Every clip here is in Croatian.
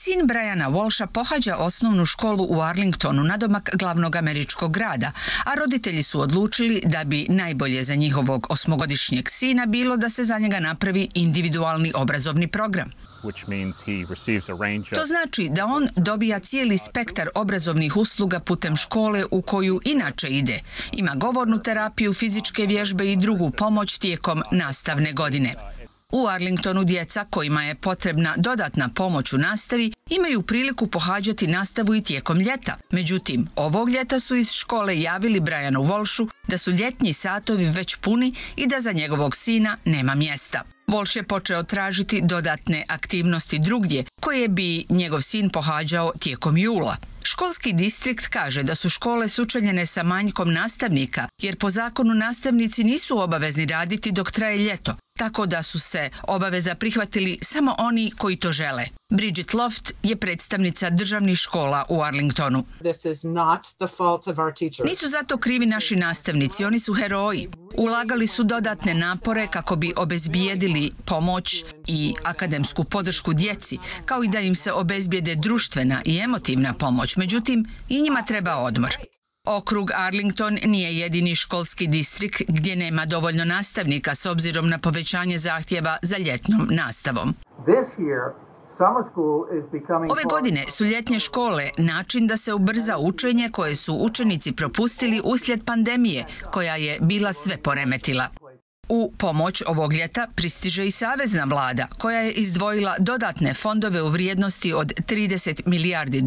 Sin Briana Walsha pohađa osnovnu školu u Arlingtonu, nadomak glavnog američkog grada, a roditelji su odlučili da bi najbolje za njihovog 8-godišnjeg sina bilo da se za njega napravi individualni obrazovni program. To znači da on dobija cijeli spektar obrazovnih usluga putem škole u koju inače ide. Ima govornu terapiju, fizičke vježbe i drugu pomoć tijekom nastavne godine. U Arlingtonu djeca kojima je potrebna dodatna pomoć u nastavi imaju priliku pohađati nastavu i tijekom ljeta. Međutim, ovog ljeta su iz škole javili Brianu Walshu da su ljetnji satovi već puni i da za njegovog sina nema mjesta. Walsh je počeo tražiti dodatne aktivnosti drugdje koje bi njegov sin pohađao tijekom jula. Školski distrikt kaže da su škole sučeljene sa manjkom nastavnika jer po zakonu nastavnici nisu obavezni raditi dok traje ljeto, tako da su se obaveza prihvatili samo oni koji to žele. Bridget Loft je predstavnica državnih škola u Arlingtonu. Nisu zato krivi naši nastavnici, oni su heroji. Ulagali su dodatne napore kako bi obezbijedili pomoć i akademsku podršku djeci, kao i da im se obezbijede društvena i emotivna pomoć. Međutim, i njima treba odmor. Okrug Arlington nije jedini školski distrikt gdje nema dovoljno nastavnika s obzirom na povećanje zahtjeva za ljetnom nastavom. Ove godine su ljetnje škole način da se ubrza učenje koje su učenici propustili uslijed pandemije, koja je bila sve poremetila. U pomoć ovog ljeta pristiže i savezna vlada, koja je izdvojila dodatne fondove u vrijednosti od $30 milijardi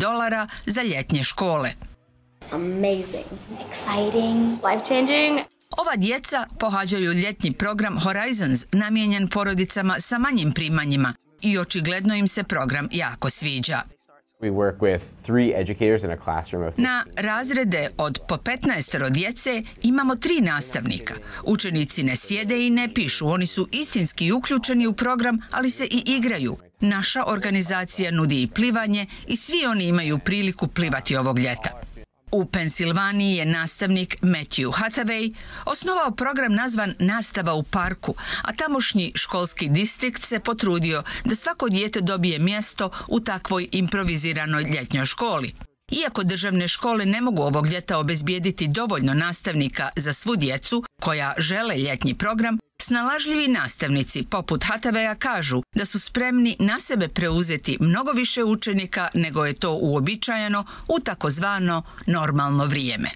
za ljetnje škole. Amazing, exciting, life-changing. Ova djeca pohađaju ljetni program Horizons namijenjen porodicama sa manjim primanjima i očigledno im se program jako sviđa. Na razrede od po 15 djece imamo 3 nastavnika. Učenici ne sjede i ne pišu, oni su istinski uključeni u program, ali se i igraju. Naša organizacija nudi i plivanje i svi oni imaju priliku plivati ovog ljeta. U Pensilvaniji je nastavnik Matthew Hathaway osnovao program nazvan Nastava u parku, a tamošnji školski distrikt se potrudio da svako dijete dobije mjesto u takvoj improviziranoj ljetnjoj školi. Iako državne škole ne mogu ovog ljeta obezbijediti dovoljno nastavnika za svu djecu koja žele ljetnji program, snalažljivi nastavnici poput Hathawaya kažu da su spremni na sebe preuzeti mnogo više učenika nego je to uobičajeno u takozvano normalno vrijeme.